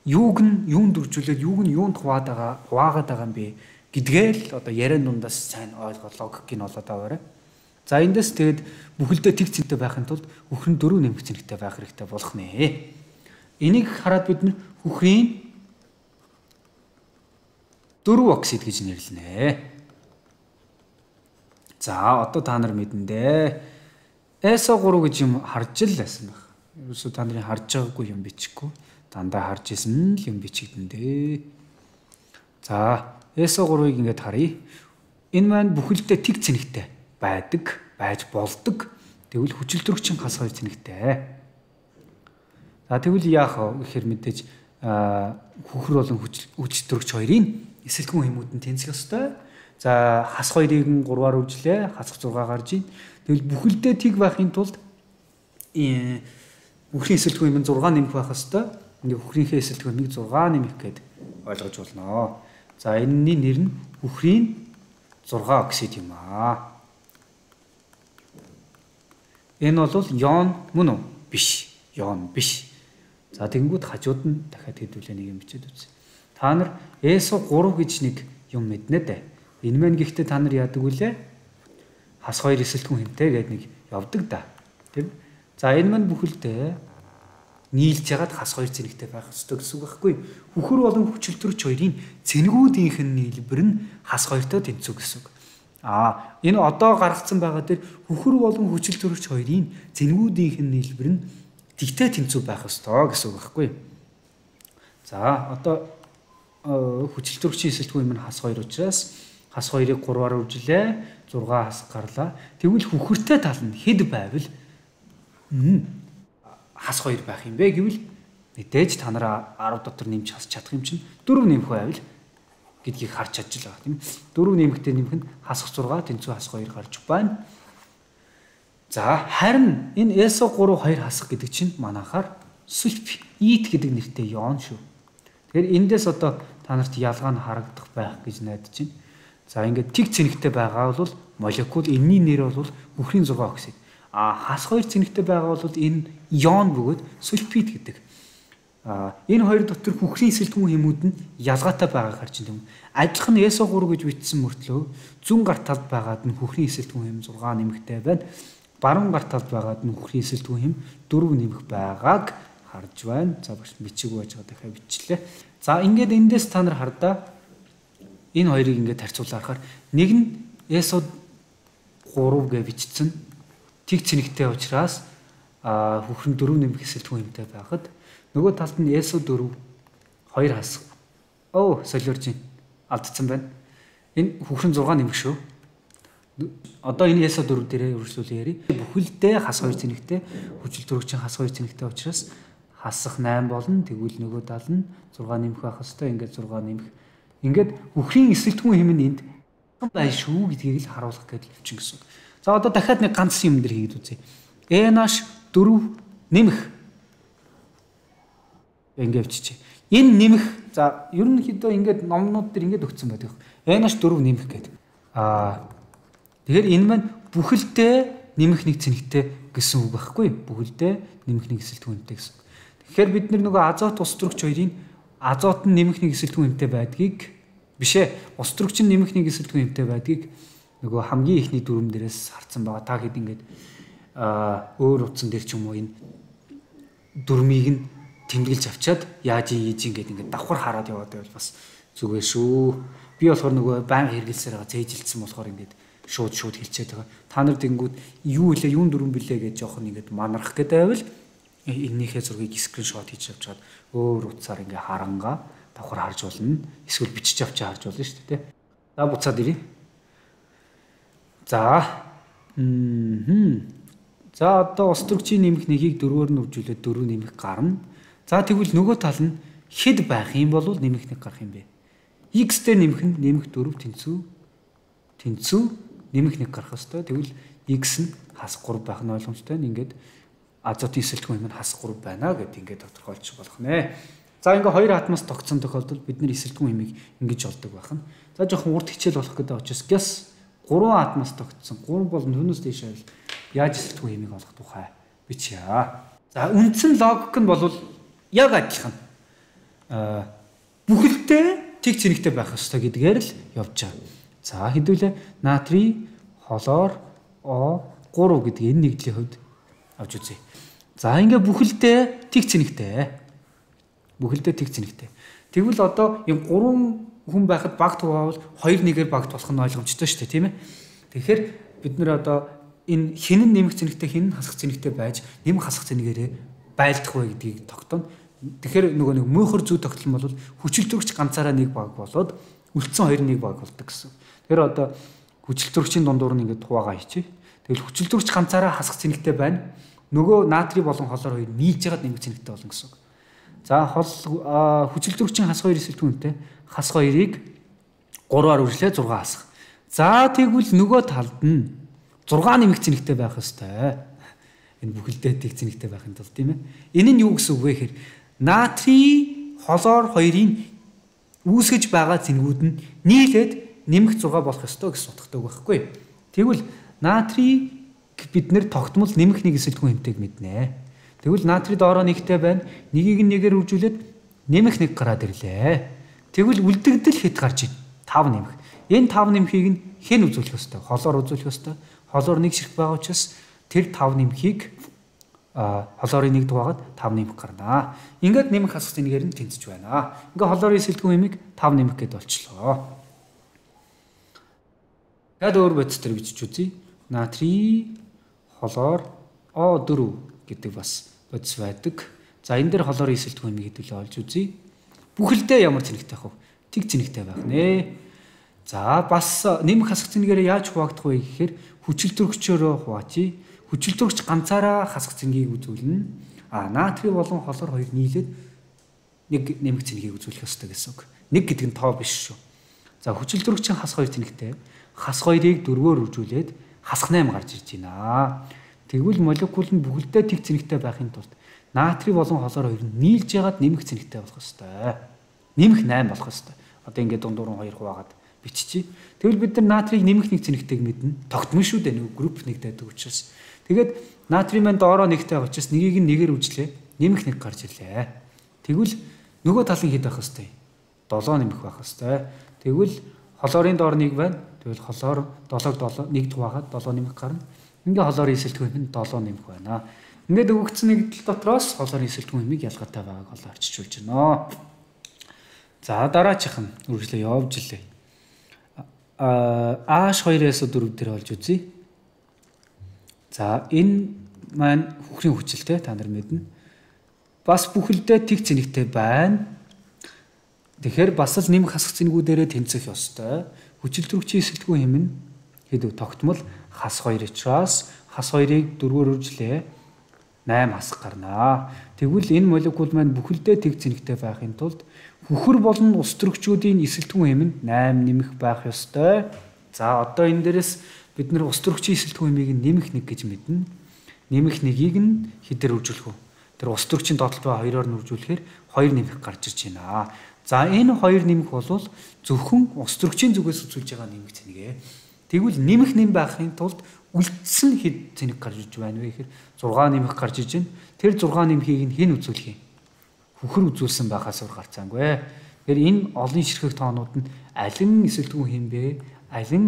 юуг нь юунд үржүүлээд юуг нь юунд хуваагаад байгаа юм бэ гэдгээл одоо яриан дундаас сайн ойлгох логик нь болоод аваарай. За эндээс тэгээд бүхэлдээ тэг цэнэгтэй байхын тулд хөхрийн 4 нэмэх цэнэгтэй байх хэрэгтэй болох нэ. Энийг хараад бид нар хөхрийн 4 оксид гэж нэрлэнэ. За одоо та нар мэдэн дээ. SO3 гэж юм харж л байсан баг. Ерөөсөө та нарын харж байгаагүй юм бичихгүй. Дандаа харж исэн л юм бичигдэн дээ. За SO3-ыг ингээд харъя. Энэ маань бүхэлдээ тэг цэнэгтэй байдаг, байж болдог. Тэгвэл хүчил төрөгчин хас 2 цэнэгтэй. За тэгвэл яах вэ гэхээр мэдээж хөхөр болон хүчил төрөгч хоёрын эсэлтгүүн хэмүүдэн тэнцэх ёстой. За хас 2-ыг 3-аар үржлээ, хасах 6 гарч ийн. Тэгвэл бүхэлдээ тэг байхын тулд хөхрийн эсэлтгүүн хэм 6 нэмэх байх ёстой. Ингээ хөхрийнхээ эсэлтгүүнийг 6 нэмэх гэд ойлгож болно. За энэний нэр нь хөхрийн 6 оксид юм аа. Энэ бол йон мөн үү? Биш. Йон биш. За тэгэнгүүт хажууд нь дахиад хэдүүлээ нэг юм бичээд үз. Та нар SO3 гэж нэг юм мэднэ дээ. Энэ маань гэхдээ та нар яадаг вүлээ? Хас 2 эсэлтгүүн хэмтэй гэдэг нэг явдаг да. Тийм. За энэ маань бүхэлдээ нийлж ягаад хас 2 цэнэгтэй байх ёстой гэсэн үг байхгүй. Хөхөр болон хүчил төрөгч хоёрын цэнэгүүдийнх нь нийлбэр нь хас 2-той тэнцүү гэсэн үг. Энэ одоо гаргацсан байгаа дээр хөхөр болон хүчил төрөгч хоёрын цэнэгүүдийнх нь нийлбэр нь тэгтэй тэнцүү байх ёстой гэсэн үг байхгүй. За одоо хүчил төрөгчийн эсэлтгүүн юм хас 2 учраас хас 2-ыг 3-аар үржлээ, 6 хас гарлаа. Тэгвэл хөхөртэй тал нь хэд байвал хас 2 байх юм бэ гэвэл мэдээж та нараа 10 дотор нэмж хас чадах юм чинь 4 нэмэх байвал гэдгийг харж чадж байгаа тийм. 4 нэмэхдээ нэмэх нь хасах 6 тэнцүү хас 2 гарч байна. За харин энэ SO3 2 хасах гэдэг чинь манайхаар сульфид гэдэг нэртэй йон шүү. Тэгэхээр эндээс одоо та нарт ялгаа нь харагдах байх гэж найдаж байна. За ингээд тэг цэнэгтэй байгаа бол молекул энэний нэр бол хөхрийн 6 оксид. Хас 2 цэнэгтэй байгаа бол энэ йон бөгөөд сульфид гэдэг. Энэ хоёр дотор хөхрийн эсэлтгүүн хэмүүд нь ялгаатай байгааг харж байна. Адилхан нь SO3 гэж бичсэн мөртлөө зүүн гар талд байгаад нь хөхрийн эсэлтгүүн хэм 6 нэмэгтэй байна. Баруун гар талд байгаад нь хөхрийн эсэлтгүүн хэм 4 нэмэх байгааг харж байна. За багш бичээгүй байж байгаа дахиад бичлээ. За ингээд эндээс та нар хардаа энэ хоёрыг ингээд харьцуулаад харахаар нэг нь SO3 гэж бичсэн тэг цэнэгтэй учраас хөхрийн 4 нэмэх эсэлтгүүн хэмтэй байхад нөгөө талд нь SO4 2 хасах. Солиорж байна. Алдсан байна. Энэ хөхрийн 6 нэмэх шүү. Одоо энэ SO4 дээрээ үргэлжлүүлээ яри. Бүхэлдээ хас 2 цэнэгтэй, хүчил төрөгчийн хас 2 цэнэгтэй учраас хасах 8 болно. Тэгвэл нөгөө тал нь 6 нэмэх байх хэвээр ингээд 6 нэмэх. Ингээд хөхрийн эсэлтгүүн хэм нь энд бай шүү гэдгийг л харуулах гэдэг явчин гэсэн. За одоо дахиад нэг ганц юм дээр хийгээд үзье. NH4 нэмэх. Ингээд авчиж. Энэ нэмэх. За ерөнхийдөө ингээд номнууд дээр ингээд өгсөн байдаг. NH4 нэмэх гэдэг. Тэгэхээр энэ маань бүхэлдээ нэмэх нэг цэнэгтэй гэсэн үг байхгүй. Бүхэлдээ нэмэх нэг эсэлтгүүнтэй гэсэн. Тэгэхээр бид нөгөө азот ус төрөгч хоёрын азот нь нэмэх нэг эсэлтгүүнтэй байдгийг биш ээ. Ус төрөгч нь нэмэх нэг эсэлтгүүнтэй байдгийг нөгөө хамгийн ихний дүрм дээрээс харсан байгаа. Та хэд ингээд өөр утсан дээр ч юм уу энэ дүрмийг нь тэмдэглэж авчаад яаж ийж ингээд давхар хараад яваад байвал бас зүгээр шүү. Би болохоор нөгөө байнга хэрэгэлсээр байгаа цээжилсэн болохоор ингээд шууд хэлчихэд байгаа. Та нар тэнгүүд юу хэлээ, юун дүрм билээ гэж жоохон ингээд манарах гэдэг байвал энэнийхээ зургийг скриншот хийж авч чад өөр утсаар ингээ харангаа давхар харж болно. Эсвэл бичиж авч харж болно шүү дээ. За буцаад ирье. За одоо ус төрөгчийн нэмэх нэгийг 4-оор нь үржүүлээд 4 нэмэх гарна. За тэгвэл нөгөө тал нь хэд байх юм бол нэмэх 1 гарах юм бэ? X-тэй нэмэх нь нэмэх 4 тэнцүү нэмэх 1 гарах ёстой. Тэгвэл X нь хас 3 байх нь ойлгомжтой. Ингээд азотын эсэлтгүүн юм нь хас 3 байна гэдээ ингээд тодорхойлчих болох нэ. За ингээ хоёр атомоос тогтсон тохиолдолд бид нэр эсэлтгүүн хэмийг ингэж олдог байна. За жоохон урт хичээл болох гэдэг учраас гэс 3 атомоос тогтсон 3 бол түүнээс дээш яаж эсэлтгүүн хэмийг олох тухай бичье. За үндсэн логик нь бол яг адилхан. Бүхэлдээ тэг цэнэгтэй байх ёстой гэдгээр л явж байгаа. За хэдүүлээ натрий, хлор, O3 гэдэг энэ нэгдлийн хувьд авч үзье. За ингээ бүхэлдээ тэг цэнэгтэй. Тэгвэл одоо юм 3 хүн байхад багт хуваавал 2-1-ээр багт болох нь ойлгомжтой шүү дээ, тийм ээ. Тэгэхээр бид нэр одоо энэ хэн нь нэмэх цэнэгтэй, хэн нь хасах цэнэгтэй байж нэмэх хасах цэнэгээрээ байлдах вэ гэдгийг тогтооно. Тэгэхээр нөгөө нэг мөнхөр зүй тогтол нь бол хүчилтөрөгч ганцаараа 1 баг болоод үлдсэн 2 1 баг болдог гэсэн. Тэгэхээр одоо хүчилтөрөгчийн дундуур нь ингээд хуваагаа хийчихье. Тэгвэл хүчилтөрөгч ганцаараа хасах цэнэгтэй байна. Нөгөө натрий болон хлор хоёр нийлж ягаад нэмэх цэнэгтэй болно гэсэн. За хүчилтөрөгчийн хас 2 эсэлтгүүнтэй хас 2-ыг 3-аар үржлээ 6 хасах. За тэгвэл нөгөө талд нь 6 нэмэх цэнэгтэй байх ёстой. Энэ бүхэлдээ тэг цэнэгтэй байхын тулд тийм ээ. Энэ нь юу гэсэн үг вэ гэхээр натрий, хлор хоёрын үүсгэж байгаа цэнгүүд нь нийлээд нэмэх 6 болох ёстой гэсэн утгатай үг байхгүй. Тэгвэл натрий бид нэр тогтмол нэмэх 1 эсэлтгүүн хэмтэйг мэднэ. Тэгвэл натрий доороо 1-тэй байна. Нэгийг нь 1-ээр үржүүлээд нэмэх 1 гараад ирлээ. Тэгвэл үлдэгдэл хэд гарч ийн? 5 нэмэх. Энэ 5 нэмхийг нь хэн үзүүлэх ёстой? Хлор үзүүлэх ёстой. Хлор 1 ширхэг байгаа учраас тэр 5 нэмхийг хлорын 1 дугаагаад 5 нэмэх гарнаа. Ингээд нэмэх хасах цэнэгээр нь тэнцэж байна. Ингээд хлорын эсэлтгүүн хэмийг 5 нэмэх гэдээ болчихлоо. Тэгээд өөр бодис төр бичиж үзье. Натрий, хлор, O4 гэдэг бас бодис байдаг. За энэ дээр хлорын эсэлтгүүн хэмийг хэдүүлээ олж үзье. Бүхэлдээ ямар цэнэгтэй байх вэ? Тэг цэнэгтэй байх нэ. За бас нэмэх хасах цэнэгээр яаж хуваагдах вэ гэхээр хүчилтөрөгчөөрөө хуваачи. Хүчилтөрөгч ганцаараа хасах цэнгийг үзүүлнэ. Натрий болон хлор хоёр нийлээд 1 нэмэх цэнгийг үзүүлэх ёстой гэсэн үг. 1 гэдэг нь тоо биш шүү. За хүчилтөрөгчийн хас 2 цэнэгтэй. Хас 2-ыг 4-өөр үржүүлээд хасах 8 гарч ирж байна. Тэгвэл молекул нь бүхэлдээ тэг цэнэгтэй байхын тулд натрий болон хлор хоёр нь нийлж ягаад нэмэх цэнэгтэй болох ёстой. Нэмэх 8 болох ёстой. Одоо ингээд дундуур нь 2 хуваагаад биччихье. Тэгвэл бид нар натрийг нэмэх 1 цэнэгтэйг мэднэ. Тогтмол шүү дээ, нэг групп нэгдээд учраас. Тэгээд натрий маань доороо 1-тэй учраас нэгийг нь 1-ээр үжлээ. Нэмэх 1 гарч ирлээ. Тэгвэл нөгөө талын хэд байх ёстой? 7 нэмэх байх ёстой. Тэгвэл хлорын доор 1 байна. Тэгвэл хлор 7-г 1 хуваагаад 7 нэмэх гарна. Ингээ хлорын эсэлтгүүн нь 7 нэмэх байна. Ингээд өгөгдсөн нэгдэл дотроос хлорын эсэлтгүүн хэмийг ялгаатай байгааг олоо арчилж байна. За дараачих нь үргэлжлээ явж илээ. H2-ээс 4 дээр олж үзье. За энэ маань хөхрийн хүчилтэй та нар мэднэ. Бас бүхэлдээ тэг цэнэгтэй байна. Тэгэхээр бас л нэмэх хасах цэнгүүдээрээ тэнцэх ёстой. Хүчилтөрөгчийн эсэлтгүүн хэм нь хэд тогтмол хас 2 учраас хас 2-ыг 4-өөр үржлээ 8 хасах гарнаа. Тэгвэл энэ молекул маань бүхэлдээ тэг цэнэгтэй байхын тулд хөхөр болон ус төрөгчүүдийн эсэлтгүүн хэм нь 8 нэмэх байх ёстой. За одоо энэ дээрээс бид нэр ус төрөгчийн эсэлтгүүн хэмийг нэмэх 1 гэж мэднэ. Нэмэх 1-ийг нь хэдээр үржүүлэх вэ? Тэр ус төрөгчийн доотлол ба 2-оор нь үржүүлэхээр 2 нэмэх гарч ирж байна. За энэ 2 нэмэх бол зөвхөн ус төрөгчийн зүгээс үзүүлж байгаа нэмэх цэнэгээ. Тэгвэл нэмэх нэм байхын тулд үлдсэн хэд цэнэг гарч иж байна вэ гэхээр 6 нэмэх гарч иж байна. Тэр 6 нэмхийг нь хэн үзүүлэх юм? Хөхөр үзүүлсэн байхаас өөр гарцаангүй. Тэгэхээр энэ олон ширхэг тоонууд нь алин эсэлтгүүн хэм бэ? Алин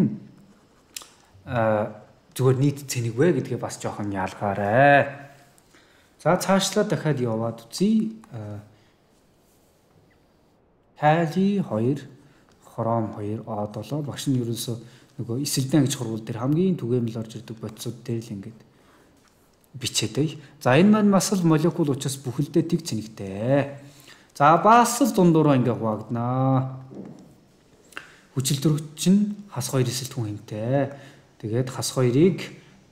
зүгээр нийт цэнийг вэ гэдгээ бас жоохон ялгаарай. За цаашлаа дахиад яваад үзье. Кали 2, хром 2, O7 багш нь ерөөсөө нөгөө эсэлдэн гэж хурвал дээр хамгийн түгээмэл орж ирдэг бодисууд дээр л ингээд бичээд бай. За энэ маань бас л молекул учраас бүхэлдээ тэг цэнэгтэй. За бас л дундуураа ингээ хуваагдана. Хүчилтөрөгч нь хас 2 эсэлтгүүн хэмтэй. Тэгээд хас 2-ыг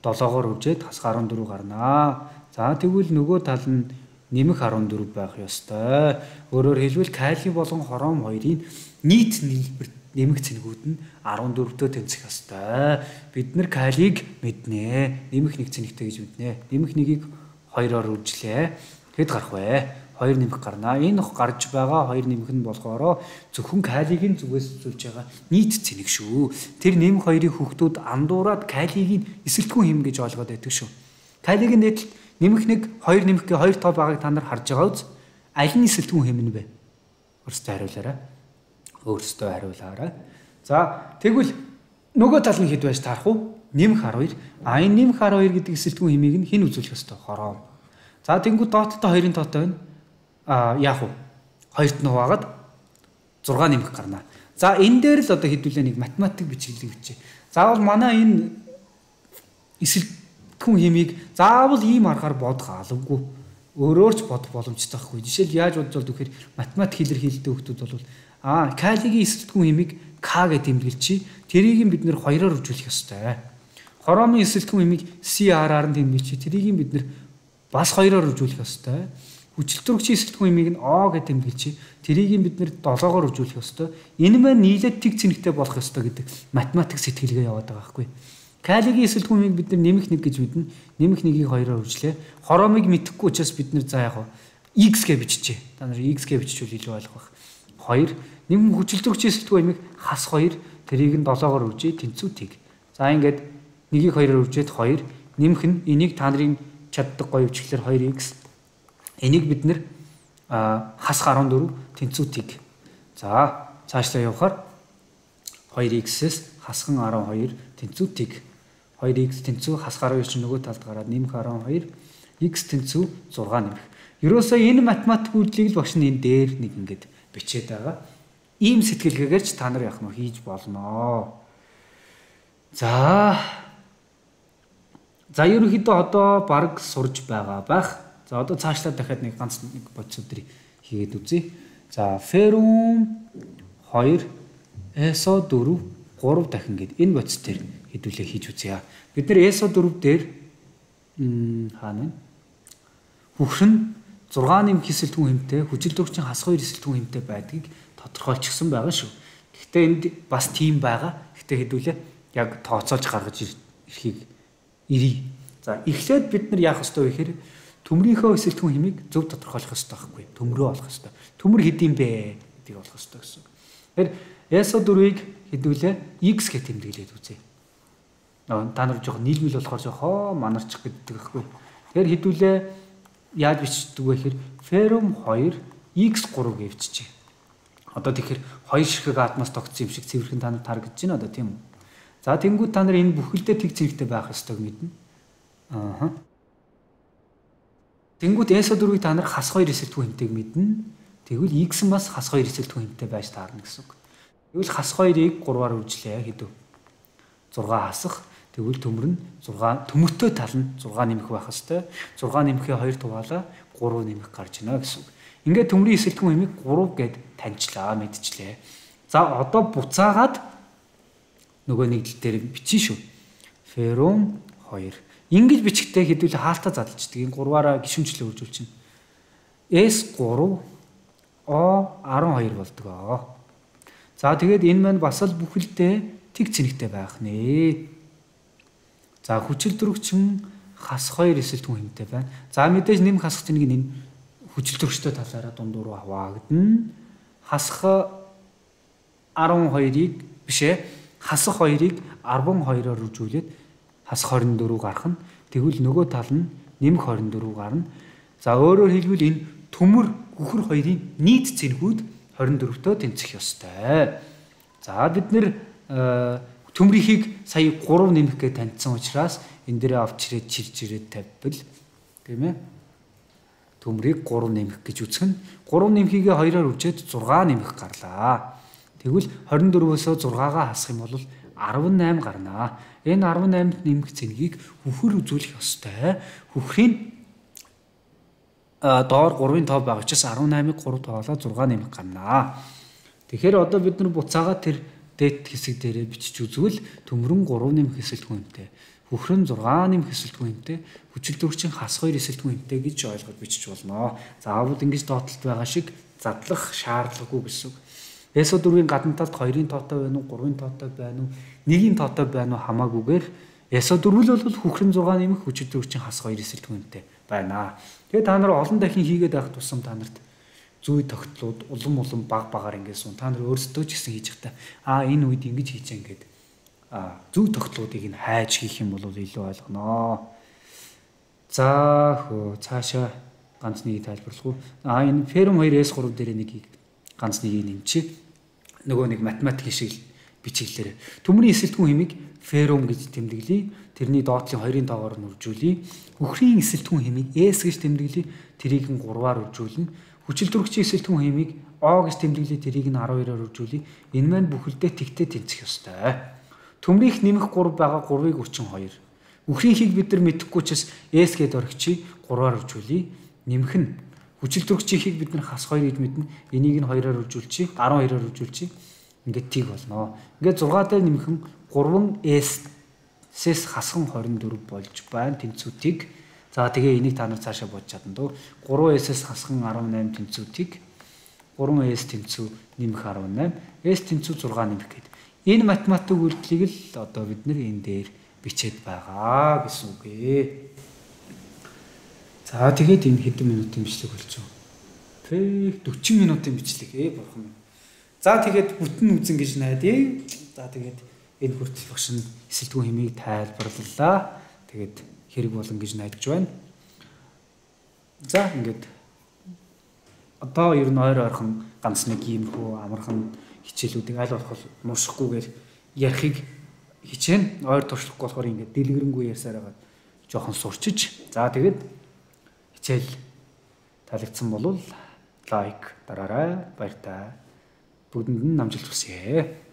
7-оор үжээд хас 14 гарнаа. За тэгвэл нөгөө тал нь нэмэх 14 байх ёстой. Өөрөөр хэлбэл кали болон хором хоёрын нийт нийлбэр нэмэх цэнэгүүд нь 14-тэй тэнцэх ёстой. Бид нар калийг мэднэ. Нэмэх нэг цэнэгтэй гэж мэднэ. Нэмэх нэгийг 2-оор үржлээ. Хэд гарах вэ? 2 нэмэх гарна. Энэ гарч байгаа 2 нэмэх нь болохоор зөвхөн калийг нь зүгээс үзүүлж байгаа нийт цэнэг шүү. Тэр нэмэх 2-ын хүүхдүүд андуураад калийг нь эсэлтгүүн хэм гэж ойлгоод байдаг шүү. Калийг нь нэмэх нэг 2 нэмэх гээ 2 тоо байгааг та нар харж байгаа үз. Аль нь эсэлтгүүн хэм нь бэ? Өөрсдөө хариулаарай. Өөрсдөө хариулаарай. За тэгвэл нөгөө тал нь хэд байж таарах уу? Нэмэх 12. Энэ нэмэх 12 гэдэг эсэлтгүүн хэмийг нь хэн үзүүлэх ёстой? Хором. За тэнгуү дооттой 2-ын тоотой байна. Яах вэ? 2-т нь хуваагаад 6 нэмэх гарна. За энэ дээр л одоо хэдүүлээ нэг математик бичиглэг бичээ. Заавал манай энэ эсэлтгүүн хэмийг заавал ийм аргаар бодох албагүй. Өөрөөр ч бодох боломжтой байхгүй. Жишээл яаж бодож болд гэхээр математик илэрхийлэлтэй хүмүүс бол калигийн эсэлтгүүн хэмийг к гэж тэмдэглэжий. Тэрийг бид нэр 2-оор үржүүлэх ёстой. Хоромын эсэлтгүүн хэмийг CR-аар нь тэмдэглэжий. Тэрийг бид нэр бас 2-оор үржүүлэх ёстой. Хүчилтөрөгчийн эсэлтгүүн хэмийг нь O гэж тэмдэглэжий. Тэрийг бид нэр 7-оор үржүүлэх ёстой. Энэ маань нийлээд тэг цэнэгтэй болох ёстой гэдэг математик сэтгэлгээ яваад байгаа байхгүй. Калигийн эсэлтгүүн хэмийг бид нэмэх 1 гэж мэднэ. Нэмэх 1-ийг 2-оор үржлээ. Хоромыг мэдэхгүй учраас бид за яг X гэж биччихье. Та нар X гэж биччихвэл илүү ойлгох байх. 2 нэмэх хүчилтөрөгчийн эсэлтгүүн хэмийг хас 2 тэрийг нь 7-оор үржээ тэнцүү тэг. За ингээд 1-ийг 2-оор үржээд 2 нэмэх нь энийг та нарын чаддаг гоё бичгээр 2x энийг бид нэр хас 14 тэнцүү тэг. За цаашлаа явахаар 2x-с хасхан 12 тэнцүү тэг. 2x тэнцүү хас 12 чинь нөгөө талд гараад нэмэх 12 x тэнцүү 6 нэмэх. Ерөөсөө энэ математик үйлдэлийг л багш нь энэ дээр нэг ингээд бичээд байгаа. Ийм сэтгэлгээгээр ч та нар яах нь хийж болно. За ерөнхийдөө одоо баг сурж байгаа байх. За одоо цаашлаа дахиад нэг ганц нэг бодис өдрийг хийгээд үзье. За феррум 2 эсо 4 3 дахин гээд энэ бодис дээр хэдүүлээ хийж үзье. Бид нар эсо 4 дээр хаана вэ? Хөхөр нь 6 нэмэх эсэлтгүүн хэмтэй, хүчилтөрөгчийн хас 2 эсэлтгүүн хэмтэй байдгийг тодорхойлчихсон байгаа шүү. Гэхдээ энд бас тийм байгаа. Гэхдээ хэдүүлээ яг тооцоолж гаргаж ирэхийг ирье. За эхлээд бид нар яах ёстой вэ гэхээр төмрийнхөө эсэлтгүүн хэмийг зөв тодорхойлох ёстой байхгүй. Төмрөө олох ёстой. Төмөр хэдийн бэ гэдгийг олох ёстой гэсэн. Тэгэхээр эсо 4-ийг хэдүүлээ x гэж тэмдэглээд үзье. Та нар жоохон нийлмэл болохоор жоохон манарчих гэдэг байхгүй. Тэгэхээр хэдүүлээ яаж бичдэг вэ гэхээр феррум 2 x3 гэж биччихье. Одоо тэгэхээр 2 ширхэг атмос тогтсон юм шиг цэвэрхэн та нар тарагдж байна одоо тийм үү? За тэнгуү та нар энэ бүхэлдээ тэг зэрэгтэй байх ёстойг мэднэ. Тэнгуүт эсо 4-ийг та нар хас 2 эсэлтгүүн хэмтэйг мэднэ. Тэгвэл x нь бас хас 2 эсэлтгүүн хэмтэй байж таарна гэсэн үг. Тэгвэл хас 2-ыг 3-аар үржлээ хэдв. 6 хасах. Тэгвэл төмөр нь 6 төмөртэй тал нь 6 нэмэх байх ёстой. 6 нэмэхээ 2 туваалаа 3 нэмэх гарч ийнэ гэсэн үг. Ингээд төмрийн эсэлтгүүн хэмийг 3 гэд таньчлаа, мэдчихлээ. За одоо буцаагаад нөгөө нэгдэл дээр бичиж шүү. Феррум 2. Ингэж бичихтэй хэдүүлээ хаалтаа задлждаг. Энэ 3-аараа гишүүнчлээ үржүүл чинь. S3 O12 болдог. За тэгээд энэ маань бас л бүхэлдээ тэг цэнэгтэй байх нэ. За хүчилтөрөгчин хас 2 эсэлтгүүн хэмтэй байна. За мэдээж нэмэх хасах цэнийг энэ хүчилтөрөгчтэй талаараа дундуур хаваагдана. Хасах 12-ыг бишээ хасах 2-ыг 12-оор үржүүлээд хасах 24 гарах нь тэгвэл нөгөө тал нь нэмэх 24 гарна. За өөрөөр хэлбэл энэ төмөр гүхэр хоёрын нийт цэнхүүд 24-төө тэнцэх ёстой. За бид нэр төмрийнхийг сая 3 нэмэх гэж таньдсан учраас энэ дээрээ авч ирээд чирж ирээд тавьбал тийм ээ. Төмрийг 3 нэмэх гэж үзэх нь 3 нэмхийгээ 2-оор үжээд 6 нэмэх гарлаа. Тэгвэл 24-өөсөө 6-гаа хасах юм бол 18 гарнаа. Энэ 18-д нэмэх цэнгийг хөхөр үзүүлэх ёстой. Хөхрийн доор 3-ын тоо байгаа учраас 18-ыг 3 тоолоо 6 нэмэх гарнаа. Тэгэхээр одоо бид нар буцаага тэр дэд хэсэг дээрээ бичиж үзвэл төмрөн 3 нэмэх эсэлтгүүнтэй. хөхрөн 6 нэмэх эсэлтгүүн хэмтэй хүчил төрөгчийн хас 2 эсэлтгүүн хэмтэй гэж ойлгож бичиж болно. Заавал ингэж доотлолт байгаа шиг задлах шаардлагагүй гэсэн. Эсо 4-ийн гадна талд 2-ын тоотой байна уу, 3-ын тоотой байна уу, 1-ийн тоотой байна уу хамаагүйгээр эсо 4 л бол хөхрөн 6 нэмэх хүчил төрөгчийн хас 2 эсэлтгүүн хэмтэй байна. Тэгээ та нар олон дахин хийгээд байх тусам та нарт зүй тогтлууд улам баг-багаар ингээд сун та нар өөрсдөө ч гэсэн хийж захтай энэ үед ингэж хийж ингээд зүй тогтлуудыг нь хайж хийх юм бол илүү ойлгоно. За цаашаа ганц нэг тайлбарлах уу? Энэ ферм 2S3 дээр нэгийг ганц нэгийг нэмчих. Нөгөө нэг математик шиг бичиглэлээр төмрийн эсэлтгүүн хэмиг ферм гэж тэмдэглэе. Тэрний доотлын 2-ын тоогоор нь үржүүлье. Хөхрийн эсэлтгүүн хэмиг S гэж тэмдэглэе. Тэрийг нь 3-аар үржүүлнэ. Хүчил төрөгчийн эсэлтгүүн хэмиг O гэж тэмдэглэе. Тэрийг нь 12-аар үржүүлье. Энэ маань бүхэлдээ тэгтээ тэнцэх ёстой. Төмрийнх нэмэх 3 байгаа 3-ыг үрчин 2. Үхрийнхийг бид нар мэдэхгүй ч S гэдээ орхичи 3-аар үржүүлье. Нэмэх нь хүчил төрөгчийнхийг бид нар хас 2 гэж мэднэ. Энийг нь 2-аар үржүүлчихье. 12-аар үржүүлчихье. Ингээд тийг болно. Ингээд 6 дээр нэмэх нь 3S-с хасхан 24 болж байна тэнцвүүдийг. За тэгээ энийг та нар цаашаа бодож чадна дөө. 3S-с хасхан 18 тэнцвүүдийг 3S тэнцүү нэмэх 18, S тэнцүү 6 нэмэх гэдэг. Энэ математик үйлдэлийг л одоо бид нэр энэ дээр бичээд байгаа гэсэн үг ээ. За тэгээд энэ хэдэн минутын бичлэг болж байна. Фэк 40 минутын бичлэг бурхан. За тэгээд бүтэн үзэн гэж найдаа. За тэгээд энэ хүртэл багш нь эсэлтгүүн хэмийг тайлбарлалаа. Тэгээд хэрэг болон гэж найдаж байна. За ингээд одоо ер нь ойрхон ганц нэг иймэрхүү амархан хичээлүүдийг аль болох муушхгүйгээр ярихыг хичээн. Ойр туршлахгүй болохоор ингээд дэлгэрэнгүй ярьсаар байгаа жоохон сурчиж. За тэгээд хичээл таалагдсан бол лайк дараарай. Баяр таа. Бүгдэнд нь намжилт хүсье.